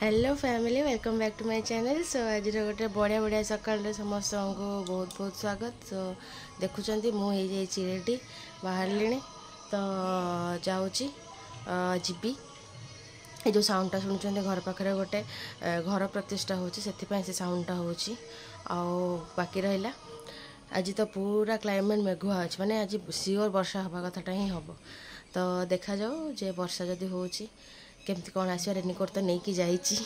Hello family, welcome back to my channel. So ଆଜିର ଗୋଟେ ବଢ଼ିଆ ବଢ଼ିଆ ସକାଳରେ ସମସ୍ତଙ୍କୁ ବହୁତ ବହୁତ ସ୍ୱାଗତ। ସୋ ଦେଖୁଛନ୍ତି, ମୁଁ ହେଇଯାଇଛି ରେଡ଼ି, ବାହାରିଲିଣି ତ ଯାଉଛି ଯିବି। ଏ ଯେଉଁ ସାଉଣ୍ଡଟା ଶୁଣୁଛନ୍ତି, ଘର ପାଖରେ ଗୋଟେ ଘର ପ୍ରତିଷ୍ଠା ହେଉଛି, ସେଥିପାଇଁ ସେ ସାଉଣ୍ଡଟା ହେଉଛି। ଆଉ ବାକି ରହିଲା, ଆଜି ତ ପୁରା କ୍ଲାଇମେଟ୍ ମେଘୁଆ ଅଛି, ମାନେ ଆଜି ସିଓର ବର୍ଷା ହେବା କଥାଟା ହିଁ ହେବ। ତ ଦେଖାଯାଉ ଯେ ବର୍ଷା ଯଦି ହେଉଛି କେମିତି କ'ଣ ଆସିବ। ରେନିକୋଟ୍ ତ ନେଇକି ଯାଇଛି,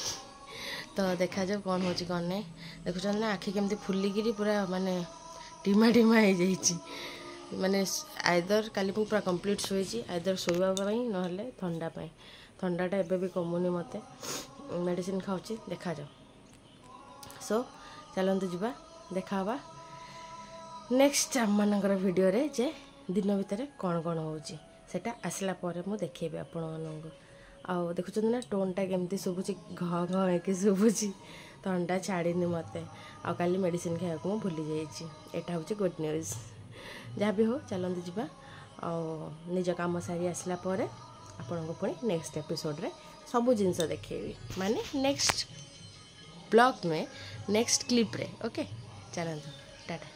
ତ ଦେଖାଯାଉ କ'ଣ ହେଉଛି କ'ଣ ନାହିଁ। ଦେଖୁଛନ୍ତି ନା, ଆଖି କେମିତି ଫୁଲିକିରି ପୁରା ମାନେ ଢିମା ଢିମା ହେଇଯାଇଛି। ମାନେ ଆଇଦର କାଲି ମୁଁ ପୁରା କମ୍ପ୍ଲିଟ୍ ଶୋଇଛି, ଆଇଦର ଶୋଇବା ପାଇଁ ନହେଲେ ଥଣ୍ଡା ପାଇଁ। ଥଣ୍ଡାଟା ଏବେ ବି କମୁନି ମୋତେ, ମେଡ଼ିସିନ ଖାଉଛି, ଦେଖାଯାଉ। ସୋ ଚାଲନ୍ତୁ ଯିବା, ଦେଖା ହେବା ନେକ୍ସଟ ଆମମାନଙ୍କର ଭିଡ଼ିଓରେ ଯେ ଦିନ ଭିତରେ କ'ଣ କ'ଣ ହେଉଛି, ସେଇଟା ଆସିଲା ପରେ ମୁଁ ଦେଖେଇବି ଆପଣମାନଙ୍କୁ। ଆଉ ଦେଖୁଛନ୍ତି ନା, ଟୋନ୍ଟା କେମିତି ଶୁଭୁଛି, ଘ ଘ ହେଇକି ଶୁଭୁଛି। ଥଣ୍ଡା ଛାଡ଼ିନି ମୋତେ, ଆଉ କାଲି ମେଡ଼ିସିନ ଖାଇବାକୁ ମୁଁ ଭୁଲି ଯାଇଛି। ଏଇଟା ହେଉଛି ଗୁଡ୍ ନ୍ୟୁଜ୍। ଯାହା ବି ହଉ, ଚାଲନ୍ତୁ ଯିବା ଆଉ ନିଜ କାମ ସାରି ଆସିଲା ପରେ ଆପଣଙ୍କୁ ପୁଣି ନେକ୍ସଟ ଏପିସୋଡ଼ରେ ସବୁ ଜିନିଷ ଦେଖେଇବି, ମାନେ ନେକ୍ସଟ ବ୍ଲଗ୍ ନୁହେଁ, ନେକ୍ସଟ କ୍ଲିପ୍ରେ। ଓକେ, ଚାଲନ୍ତୁ, ଟାଟା।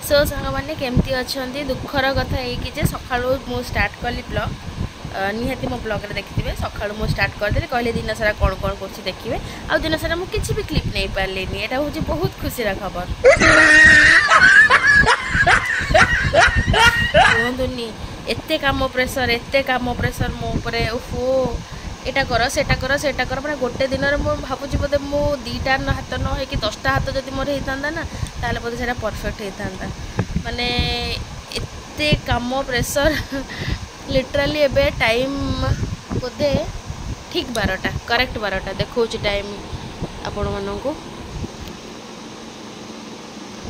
ସୋ ସାଙ୍ଗମାନେ, କେମିତି ଅଛନ୍ତି? ଦୁଃଖର କଥା ଏଇକି ଯେ ସକାଳୁ ମୁଁ ଷ୍ଟାର୍ଟ କଲି ବ୍ଲଗ୍। ନିହାତି ମୋ ବ୍ଲଗ୍ରେ ଦେଖିଥିବେ, ସକାଳୁ ମୁଁ ଷ୍ଟାର୍ଟ କରିଦେଲି, କହିଲେ ଦିନ ସାରା କ'ଣ କ'ଣ କରୁଛି ଦେଖିବେ। ଆଉ ଦିନ ସାରା ମୁଁ କିଛି ବି କ୍ଲିପ୍ ନେଇପାରିଲିନି। ଏଇଟା ହେଉଛି ବହୁତ ଖୁସିର ଖବର। କୁହନ୍ତୁନି, ଏତେ କାମ ପ୍ରେସର, ଏତେ କାମ ପ୍ରେସର ମୋ ଉପରେ। ଓହୋ, ଏଇଟା କର, ସେଇଟା କର, ସେଇଟା କର, ମାନେ ଗୋଟେ ଦିନରେ ମୁଁ ଭାବୁଛି ବୋଧେ ମୁଁ 2ଟା ହାତ ନ ହେଇକି 10ଟା ହାତ ଯଦି ମୋର ହେଇଥାନ୍ତା ନା, ତାହେଲେ ବୋଧେ ସେଇଟା ପରଫେକ୍ଟ ହେଇଥାନ୍ତା। ମାନେ ଏତେ କାମ ପ୍ରେସର। ଲିଟରାଲି ଏବେ ଟାଇମ୍ ବୋଧେ ଠିକ୍ 12ଟା, କରେକ୍ଟ 12ଟା ଦେଖାଉଛି ଟାଇମ୍ ଆପଣମାନଙ୍କୁ।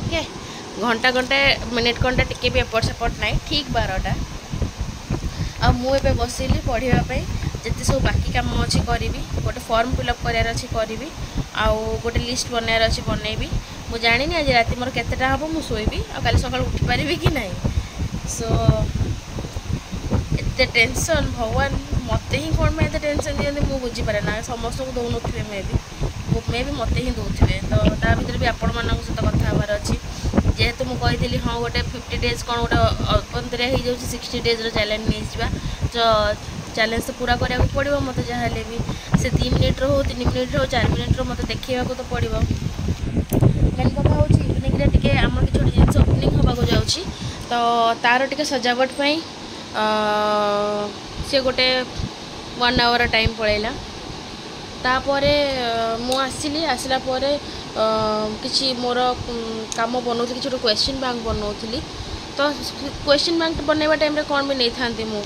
ଓକେ, ଘଣ୍ଟା ଘଣ୍ଟେ ମିନିଟ୍ ଘଣ୍ଟା ଟିକେ ବି ଏପଟ ସେପଟ ନାହିଁ, ଠିକ୍ 12ଟା। ଆଉ ମୁଁ ଏବେ ବସିଲି ପଢ଼ିବା ପାଇଁ। ଯେତେ ସବୁ ବାକି କାମ ଅଛି କରିବି, ଗୋଟେ ଫର୍ମ ଫିଲ୍ଅପ୍ କରିବାର ଅଛି କରିବି, ଆଉ ଗୋଟେ ଲିଷ୍ଟ ବନେଇବାର ଅଛି ବନେଇବି। ମୁଁ ଜାଣିନି ଆଜି ରାତି ମୋର କେତେଟା ହେବ, ମୁଁ ଶୋଇବି ଆଉ କାଲି ସକାଳୁ ଉଠିପାରିବି କି ନାହିଁ। ସୋ ଏତେ ଟେନସନ୍, ଭଗବାନ ମୋତେ ହିଁ କ'ଣ ପାଇଁ ଏତେ ଟେନସନ୍ ଦିଅନ୍ତି ମୁଁ ବୁଝିପାରେ ନା। ସମସ୍ତଙ୍କୁ ଦେଉନଥିବେ, ମେ ବି ମୋତେ ହିଁ ଦେଉଥିବେ। ତ ତା ଭିତରେ ବି ଆପଣମାନଙ୍କ ସହିତ କଥା ହେବାର ଅଛି, ଯେହେତୁ ମୁଁ କହିଥିଲି ହଁ ଗୋଟେ 50 ଡେଜ୍ କ'ଣ ଗୋଟେ ଅପନ୍ତରିଆ ହେଇଯାଉଛି, 60 ଡେଜ୍ର ଚ୍ୟାଲେଞ୍ଜ ନେଇଯିବା। ତ ଚ୍ୟାଲେଞ୍ଜ ତ ପୁରା କରିବାକୁ ପଡ଼ିବ ମୋତେ, ଯାହା ହେଲେ ବି ସେ 2 ମିନିଟ୍ର ହଉ, 3 ମିନିଟ୍ର ହଉ, 4 ମିନିଟ୍ର, ମୋତେ ଦେଖେଇବାକୁ ତ ପଡ଼ିବ। ମେନ୍ କଥା ହେଉଛି ଇଭିନିଂରେ ଟିକେ ଆମର କିଛି ଗୋଟେ ଜିନିଷ ଓପନିଂ ହେବାକୁ ଯାଉଛି, ତ ତାର ଟିକେ ସଜାବଟ ପାଇଁ ସିଏ ଗୋଟେ 1 ଆୱାର ଟାଇମ୍ ପଳେଇଲା। ତାପରେ ମୁଁ ଆସିଲି, ଆସିଲା ପରେ କିଛି ମୋର କାମ ବନଉଥିଲି, କିଛି ଗୋଟେ କ୍ୱେଶ୍ଚିନ୍ ବ୍ୟାଙ୍କ ବନଉଥିଲି। ତ କ୍ୱେଶ୍ଚିନ୍ ବ୍ୟାଙ୍କ ବନେଇବା ଟାଇମ୍ରେ କ'ଣ ବି ନେଇଥାନ୍ତି ମୁଁ।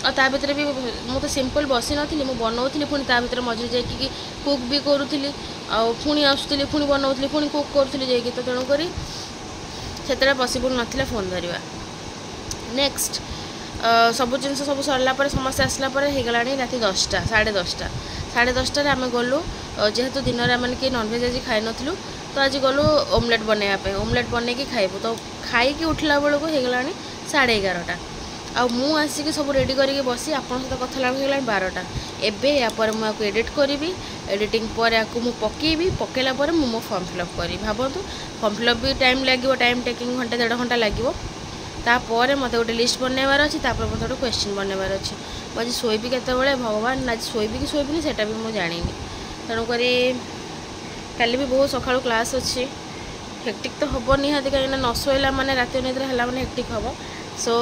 ଆଉ ତା ଭିତରେ ବି ମୁଁ ତ ସିମ୍ପଲ୍ ବସିନଥିଲି, ମୁଁ ବନଉଥିଲି, ପୁଣି ତା ଭିତରେ ମଝିରେ ଯାଇକି କୁକ୍ ବି କରୁଥିଲି, ଆଉ ପୁଣି ଆସୁଥିଲି, ପୁଣି ବନଉଥିଲି, ପୁଣି କୁକ୍ କରୁଥିଲି ଯାଇକି। ତ ତେଣୁକରି ସେତେବେଳେ ପସିବୁଲ୍ ନଥିଲା ଫୋନ୍ ଧରିବା। ନେକ୍ସଟ ସବୁ ଜିନିଷ ସବୁ ସରିଲା ପରେ, ସମସ୍ତେ ଆସିଲା ପରେ ହେଇଗଲାଣି ରାତି 10ଟା, 10:30। 10:30ରେ ଆମେ ଗଲୁ, ଯେହେତୁ ଦିନରେ ଆମେ କେହି ନନଭେଜ୍ ଆଜି ଖାଇନଥିଲୁ, ତ ଆଜି ଗଲୁ ଓମଲେଟ୍ ବନେଇବା ପାଇଁ। ଓମଲେଟ୍ ବନେଇକି ଖାଇବୁ। ତ ଖାଇକି ଉଠିଲା ବେଳକୁ ହେଇଗଲାଣି 11:30। ଆଉ ମୁଁ ଆସିକି ସବୁ ରେଡ଼ି କରିକି ବସି ଆପଣଙ୍କ ସହିତ କଥା ହେଲା ବେଳକୁ ହେଇଗଲାଣି 12ଟା। ଏବେ ୟା ପରେ ମୁଁ ୟାକୁ ଏଡ଼ିଟ୍ କରିବି, ଏଡ଼ିଟିଂ ପରେ ୟାକୁ ମୁଁ ପକେଇବି, ପକେଇଲା ପରେ ମୁଁ ମୋ ଫର୍ମ ଫିଲ୍ଅପ୍ କରିବି। ଭାବନ୍ତୁ, ଫର୍ମ ଫିଲ୍ଅପ୍ ବି ଟାଇମ୍ ଲାଗିବ, ଟାଇମ୍ ଟେକିଂ, ଘଣ୍ଟେ ଦେଢ଼ ଘଣ୍ଟା ଲାଗିବ। ତାପରେ ମୋତେ ଗୋଟେ ଲିଷ୍ଟ ବନେଇବାର ଅଛି, ତାପରେ ମୋତେ ଗୋଟେ କ୍ୱେଶ୍ଚିନ୍ ବନେଇବାର ଅଛି। ମୁଁ ଆଜି ଶୋଇବି କେତେବେଳେ ଭଗବାନ, ଆଜି ଶୋଇବି କି ଶୋଇବିନି ସେଇଟା ବି ମୁଁ ଜାଣିନି। ତେଣୁକରି କାଲି ବି ବହୁତ ସକାଳୁ କ୍ଲାସ୍ ଅଛି। ହେକ୍ଟିକ୍ ତ ହେବ ନିହାତି, କାହିଁକିନା ନ ଶୋଇଲା ମାନେ, ରାତି ଅନିଦ୍ରା ହେଲା ମାନେ ହେକ୍ଟିକ୍ ହେବ। ସୋ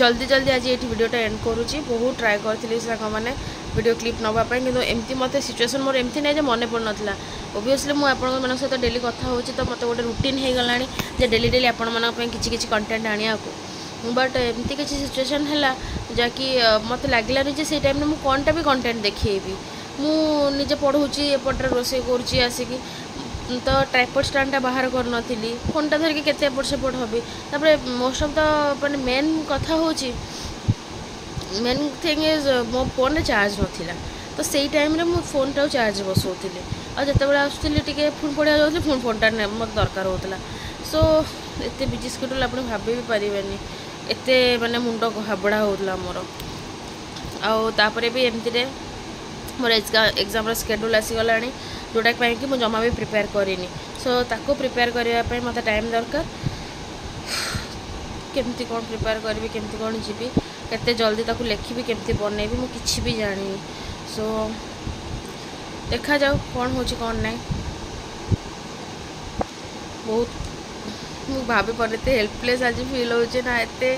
ଜଲ୍ଦି ଜଲ୍ଦି ଆଜି ଏଇଠି ଭିଡ଼ିଓଟା ଏଣ୍ଡ କରୁଛି। ବହୁତ ଟ୍ରାଏ କରିଥିଲି ସାଙ୍ଗମାନେ ଭିଡ଼ିଓ କ୍ଲିପ୍ ନେବା ପାଇଁ, କିନ୍ତୁ ଏମିତି ମୋତେ ସିଚୁଏସନ୍ ମୋର ଏମିତି ନାହିଁ ଯେ ମନେ ପଡ଼ୁନଥିଲା। ଓବିୟସଲି ମୁଁ ଆପଣମାନଙ୍କ ସହିତ ଡେଲି କଥା ହେଉଛି, ତ ମୋତେ ଗୋଟେ ରୁଟିନ୍ ହେଇଗଲାଣି ଯେ ଡେଲି ଡେଲି ଆପଣମାନଙ୍କ ପାଇଁ କିଛି କିଛି କଣ୍ଟେଣ୍ଟ ଆଣିବାକୁ। ବଟ୍ ଏମିତି କିଛି ସିଚୁଏସନ୍ ହେଲା ଯାହାକି ମୋତେ ଲାଗିଲାନି ଯେ ସେଇ ଟାଇମ୍ରେ ମୁଁ କ'ଣଟା ବି କଣ୍ଟେଣ୍ଟ ଦେଖେଇବି। ମୁଁ ନିଜେ ପଢ଼ଉଛି, ଏପଟରେ ରୋଷେଇ କରୁଛି ଆସିକି, ତ ଟ୍ରାଇପଡ଼ ଷ୍ଟାଣ୍ଡଟା ବାହାର କରିନଥିଲି। ଫୋନ୍ଟା ଧରିକି କେତେ ଏପଟ ସେପଟ ହେବି? ତାପରେ ମୋଷ୍ଟ ଅଫ୍ the ମାନେ ମେନ୍ କଥା ହେଉଛି, ମେନ୍ ଥିଙ୍ଗ is ମୋ ଫୋନ୍ରେ ଚାର୍ଜ ନଥିଲା। ତ ସେଇ ଟାଇମ୍ରେ ମୁଁ ଫୋନ୍ଟାକୁ ଚାର୍ଜ ବସାଉଥିଲି, ଆଉ ଯେତେବେଳେ ଆସୁଥିଲି ଟିକେ ପୁଣି ପଢ଼ିବାକୁ ଯାଉଥିଲି, ପୁଣି ଫୋନ୍ଟା ମୋତେ ଦରକାର ହେଉଥିଲା। ସୋ ଏତେ ବିଜି ସ୍କେଡ୍ୟୁଲ୍ ଆପଣ ଭାବି ବି ପାରିବେନି, ଏତେ ମାନେ ମୁଣ୍ଡ ଘାବଡ଼ା ହେଉଥିଲା ମୋର। ଆଉ ତାପରେ ବି ଏମିତିରେ ମୋର ଏକ୍ଜାମ୍ର ସ୍କେଡ୍ୟୁଲ୍ ଆସିଗଲାଣି, ଯେଉଁଟା ପାଇଁ କି ମୁଁ ଜମା ବି ପ୍ରିପେୟାର କରିନି। ସୋ ତାକୁ ପ୍ରିପେୟାର କରିବା ପାଇଁ ମୋତେ ଟାଇମ୍ ଦରକାର। କେମିତି କ'ଣ ପ୍ରିପେୟାର କରିବି, କେମିତି କ'ଣ ଯିବି, କେତେ ଜଲ୍ଦି ତାକୁ ଲେଖିବି, କେମିତି ବନେଇବି, ମୁଁ କିଛି ବି ଜାଣିନି। ସୋ ଦେଖାଯାଉ କ'ଣ ହେଉଛି କ'ଣ ନାହିଁ। ବହୁତ ମୁଁ ଭାବିପାରୁନି, ଏତେ ହେଲ୍ପଲେସ୍ ଆଜି ଫିଲ୍ ହେଉଛି ନା, ଏତେ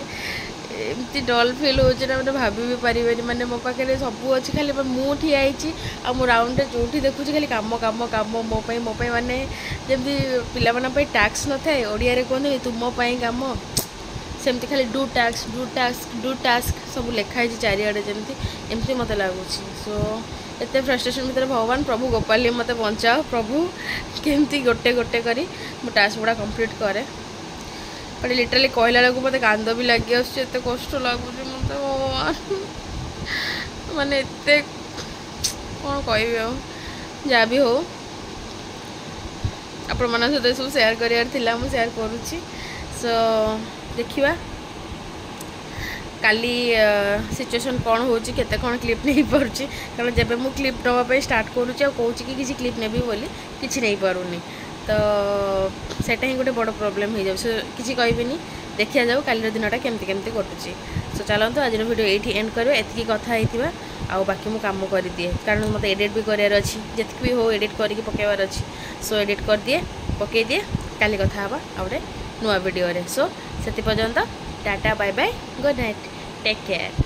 ଏମିତି ଡଲ୍ ଫିଲ୍ ହେଉଛି ନା, ମାନେ ଭାବି ବି ପାରିବେନି। ମାନେ ମୋ ପାଖରେ ସବୁ ଅଛି, ଖାଲି ମୁଁ ଠିଆ ହେଇଛି ଆଉ ମୁଁ ରାଉଣ୍ଡରେ ଯେଉଁଠି ଦେଖୁଛି ଖାଲି କାମ କାମ କାମ, ମୋ ପାଇଁ ମୋ ପାଇଁ। ମାନେ ଯେମିତି ପିଲାମାନଙ୍କ ପାଇଁ ଟାସ୍କ ନଥାଏ, ଓଡ଼ିଆରେ କୁହନ୍ତି ତୁମ ପାଇଁ କାମ, ସେମିତି ଖାଲି do task, do task, do task ସବୁ ଲେଖା ହେଇଛି ଚାରିଆଡ଼େ ଯେମିତି, ଏମିତି ମୋତେ ଲାଗୁଛି। ସୋ ଏତେ ଫ୍ରଷ୍ଟ୍ରେସନ୍ ଭିତରେ ଭଗବାନ ପ୍ରଭୁ ଗୋପାଲି ମୋତେ ବଞ୍ଚାଅ ପ୍ରଭୁ, କେମିତି ଗୋଟେ ଗୋଟେ କରି ମୁଁ ଟାସ୍କ ଗୁଡ଼ା କମ୍ପ୍ଲିଟ୍ କରେ। ବଟ୍ ଲିଟରାଲି କହିଲା ବେଳକୁ ମୋତେ କାନ୍ଦ ବି ଲାଗି ଆସୁଛି, ଏତେ କଷ୍ଟ ଲାଗୁଛି ମୋତେ ଭଗବାନ, ମାନେ ଏତେ କ'ଣ କହିବି ଆଉ। ଯାହା ବି ହଉ, ଆପଣମାନଙ୍କ ସହିତ ଏସବୁ ସେୟାର କରିବାର ଥିଲା, ମୁଁ ସେୟାର କରୁଛି। ସୋ ଦେଖିବା କାଲି ସିଚୁଏସନ୍ କ'ଣ ହେଉଛି, କେତେ କ'ଣ କ୍ଲିପ୍ ନେଇପାରୁଛି। କାରଣ ଯେବେ ମୁଁ କ୍ଲିପ୍ ନେବା ପାଇଁ ଷ୍ଟାର୍ଟ କରୁଛି ଆଉ କହୁଛି କି କିଛି କ୍ଲିପ୍ ନେବି ବୋଲି, କିଛି ନେଇପାରୁନି, ତ ସେଇଟା ହିଁ ଗୋଟେ ବଡ଼ ପ୍ରୋବ୍ଲେମ୍ ହେଇଯାଉଛି। କିଛି କହିବିନି, ଦେଖିବା ଯାଉ କାଲିର ଦିନଟା କେମିତି କେମିତି କଟୁଛି। ସୋ ଚାଲନ୍ତୁ ଆଜିର ଭିଡ଼ିଓ ଏଇଠି ଏଣ୍ଡ କରିବା, ଏତିକି କଥା ହେଇଥିବା। ଆଉ ବାକି ମୁଁ କାମ କରିଦିଏ, କାରଣ ମୋତେ ଏଡ଼ିଟ୍ ବି କରିବାର ଅଛି, ଯେତିକି ବି ହଉ ଏଡ଼ିଟ୍ କରିକି ପକାଇବାର ଅଛି। ସୋ ଏଡ଼ିଟ୍ କରିଦିଏ, ପକାଇଦିଏ, କାଲି କଥା ହେବା ଆଉ ଗୋଟେ ନୂଆ ଭିଡ଼ିଓରେ। ସୋ ସେଥି ପର୍ଯ୍ୟନ୍ତ tata, bye bye, good night, take care.